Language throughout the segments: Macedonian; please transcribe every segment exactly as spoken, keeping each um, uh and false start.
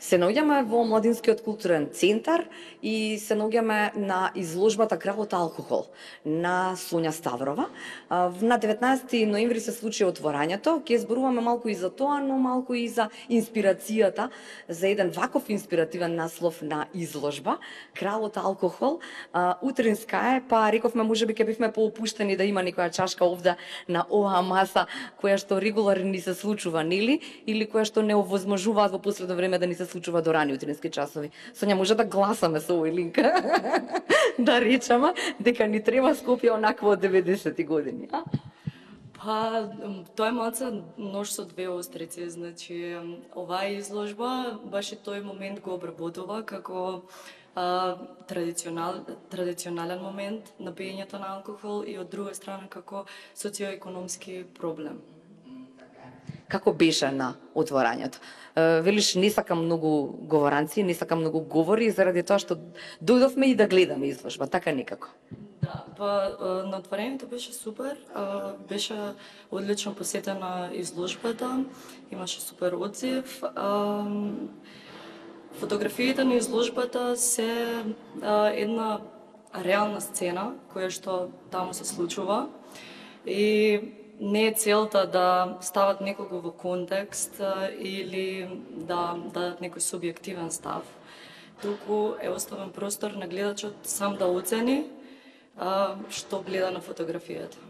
Се наоѓаме во Младинскиот културен центар и се наоѓаме на изложбата Кралот алкохол на Сонја Ставрова. На деветнаесети ноември се случи отворањето. Ќе зборуваме малку и за тоа, но малку и за инспирацијата за еден ваков инспиративен наслов на изложба Кралот алкохол. Утринска е, па рековме можеби ќе бивме поопуштени да има некоја чашка овде на оваа маса која што регуларно ни се случува, нели? Или која што не овозможуваат во последно време да ни се случува до рани утрински часови. Сонја, може да гласаме со овој линк. Да речеме дека ни треба Скопје онакво од деветдесети години. А? Па, тоа е малце нож со две острици, значи оваа изложба баш и тој момент го обработува како а, традиционал, традиционален момент на пиењето на алкохол и од друга страна како социоекономски проблем. Како беше на отворањето? Велиш, не сакам многу говоранци, не сакам многу говори, заради тоа што дојдовме и да гледаме изложба, така некако. Да, па на отворањето беше супер, беше одлично посетена изложбата, имаше супер одзив. Фотографиите на изложбата се една реална сцена која што таму се случува и не е целта да стават некого во контекст или да дадат некој субјективен став, туку е оставен простор на гледачот сам да оцени што гледа на фотографијата.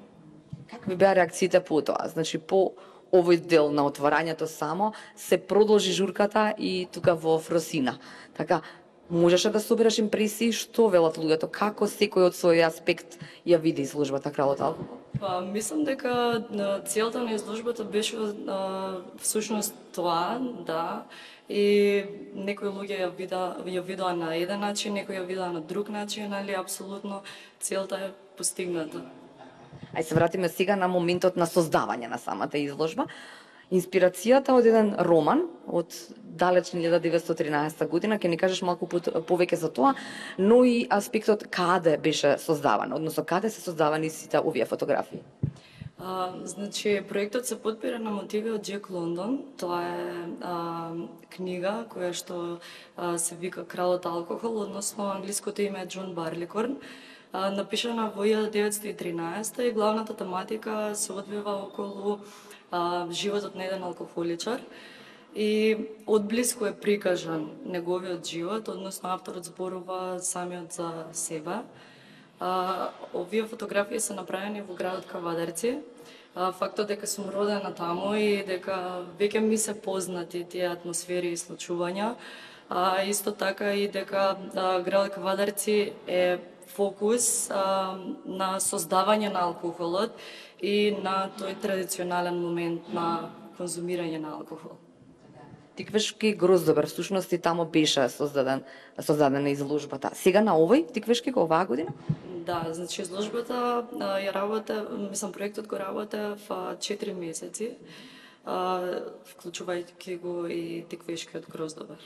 Какви беа реакциите по тоа? Значи, по овој дел на отворањето само се продолжи журката и тука во Фросина. Така, можеше да собереш импресии, што велат луѓето, како секој од свој аспект ја види изложбата Кралот алкохол? Па, мислам дека целта на изложбата беше а, всушност тоа, да, и некои луѓе ја вида, ја видоа на еден начин, некои ја видоа на друг начин, али апсолутно целта е постигната. Ај се вратиме сега на моментот на создавање на самата изложба. Инспирацијата од еден роман од далечна илјада деветстотини и тринаесетта година, ќе ни кажеш малку повеќе за тоа, но и аспектот каде беше создаван, односно каде се создавани сите овие фотографии. А, значи, проектот се подпира на мотиви од Джек Лондон. Тоа е а, книга која што а, се вика Кралот алкохол, односно англиското име е Џон Барликорн. А, напишана во илјада деветстотини и тринаесетта и главната тематика се одвива околу а, животот на еден алкохоличар и одблиску е прикажан неговиот живот, односно авторот зборува самиот за себе. А, овие фотографии се направени во градот Кавадарци. А, фактот дека сум родена таму и дека веќе ми се познати тие атмосфери и случувања, а исто така и дека а, градот Кавадарци е фокус а, на создавање на алкохолот и на тој традиционален момент на конзумирање на алкохол. Тиквешки Гроздобар, всушност и тамо беше создаден, создадена изложбата. Сега на овој Тиквешки го оваа година? Да, значи изложбата ја работа, мислам проектот го работа во четири месеци, вклучувајќи го и Тиквешкиот Гроздобар.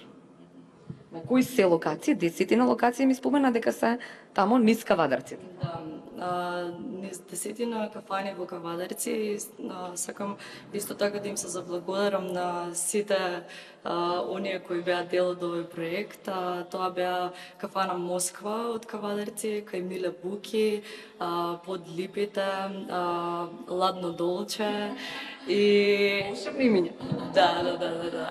На кои се локации? Десетина локации ми спомена дека се тамо низ Кавадарци. Да, а, низ десетина кафани во Кавадарци. А, сакам исто така да им се заблагодарам на сите а, оние кои беа дел од овој проект. А, тоа беа кафана Москва од Кавадарци, кај Миле Буки, а, Под липите, а, Ладно Долче и Волшебни имиња. Да, да, да, да, да.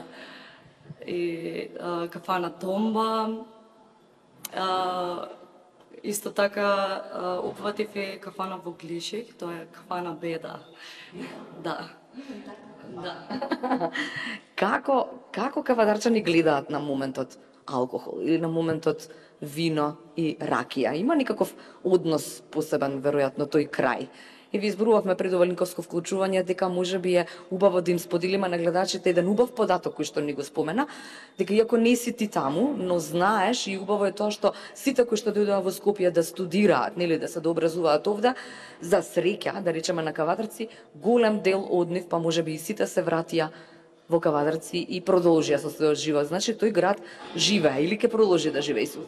И а, кафана Томба. А, исто така а, упатив и кафана во Глишик, тоа е кафана Беда. Да. Да. Како како кавадарчани гледаат на моментот алкохол или на моментот вино и ракија? Има некаков однос посебен веројатно тој крај? И ви изборувавме пред ова линковско вклучување дека можеби е убаво да им споделиме на гледачите еден убав податок кој што ни го спомена, дека иако не си ти таму, но знаеш и убаво е тоа што сите кои што дојдоа во Скопје да студираат, нели да се дообразуваат овде, за среќа, да речеме на Кавадарци, голем дел од нив, па можеби и сите се вратија во Кавадарци и продолжија со својот живот. Значи тој град живее или ќе продолжи да живее со.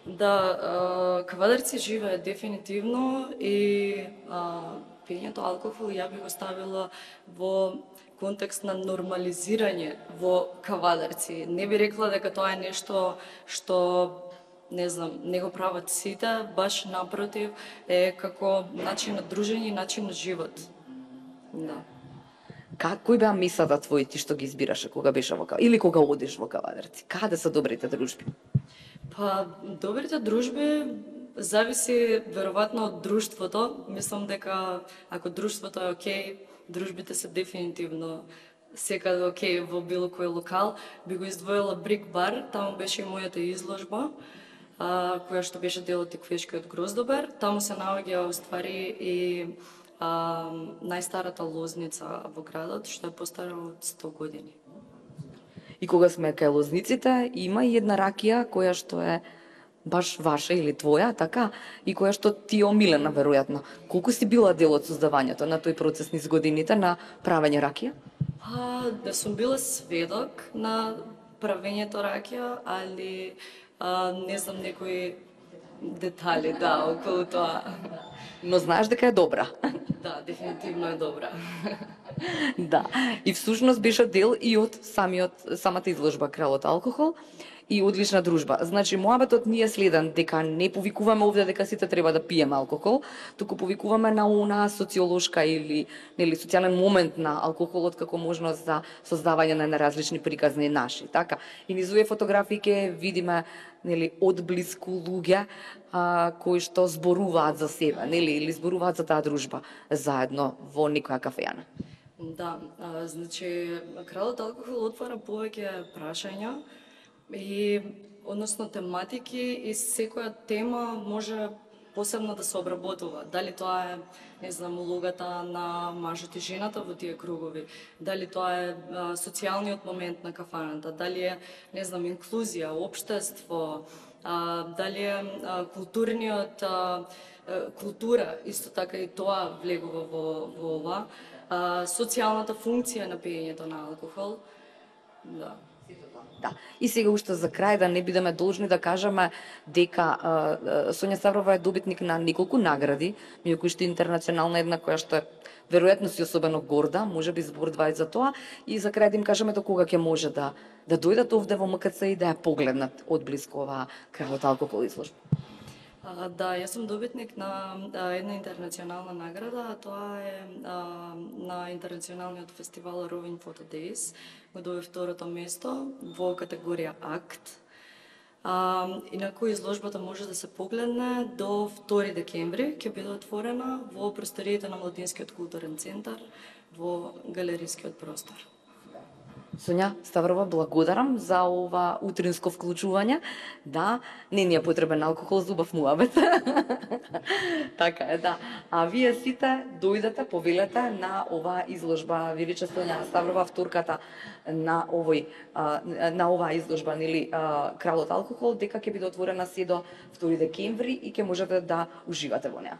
Да, Кавадарци живее дефинитивно и а, пиењето алкохол ја би го ставила во контекст на нормализирање во кавадарци. Не би рекла дека тоа е нешто што не знам, не го прават сите, баш напротив, е како начин на дружење и начин на живот. Да. Как, кои беа месата твои ти што ги избираше кога беше во кавадарци или кога одиш во кавадарци? Каде се добрите дружби? Па, добрите дружби зависи веројатно од друштвото. Мислам дека ако друштвото е окей, дружбите се дефинитивно секаде окей во било кој локал. Би го издвоила Брик бар, таму беше и мојата изложба, а, која што беше дел од Теквешкиот гроздобер. Таму се наоѓа уствари и а, најстарата лозница во градот, што е постара од сто години. И кога сме кај лозниците, има и една ракија која што е баш ваша или твоја, така, и која што ти е омилена, веројатно. Колку си била дел од создавањето на тој процес низ годините на правење ракија? А, да сум била сведок на правењето ракија, али а, не знам некои детали, да, околу тоа. Но знаеш дека е добра. Да, дефинитивно е добра. Да, и всушност беше дел и од самиот самата изложба Кралот алкохол и одлична дружба. Значи, моабетот ни е следен, дека не повикуваме овде дека сите треба да пиеме алкохол, туку повикуваме на она социолошка или нели социјален момент на алкохолот како можност за создавање на неразлични приказни наши, така. И низ овие фотографии ќе видиме нели одблиску луѓе а, кои што зборуваат за себе, нели, или зборуваат за таа дружба заедно во некоја кафејана. Да, а, значи, Кралот алкохол отвара повеќе прашања и односно тематики и секоја тема може посебно да се обработува. Дали тоа е, не знам, улогата на мажот и жената во тие кругови, дали тоа е а, социјалниот момент на кафаната, дали е, не знам, инклузија, општество, а, дали е а, културниот а, култура, исто така и тоа влегува во, во ова, а, социјалната функција на пиењето на алкохол. Да. Да. И сега уште за крај да не бидеме должни да кажеме дека а, Сонја Ставрова е добитник на неколку награди, меѓу кои што интернационална една која што е веројатно си особено горда, можеби зборува и за тоа, и за крај да им кажеме до кога ќе може да да дојдат овде во М К Ц и да ја погледнат одблиску оваа Кралот алкохол изложба. А, да, јас сум добитник на а, една интернационална награда, а тоа е а, на интернационалниот фестивал Roving Photo Days. Го добив второто место во категорија Акт. А, инаку изложбата може да се погледне до втори декември, ќе биде отворена во просториите на Младинскиот културен центар во галерискиот простор. Сонја Ставрова, благодарам за ова утринско вклучување. Да, не ни е потребен алкохол за убав муабет. Така е, да. А вие сите дојдете, повелете на оваа изложба. Ви рече Сонја Ставрова, авторката на овој на оваа изложба, нели, Кралот алкохол, дека ќе биде отворена се до втори декември и ќе можете да уживате во неа.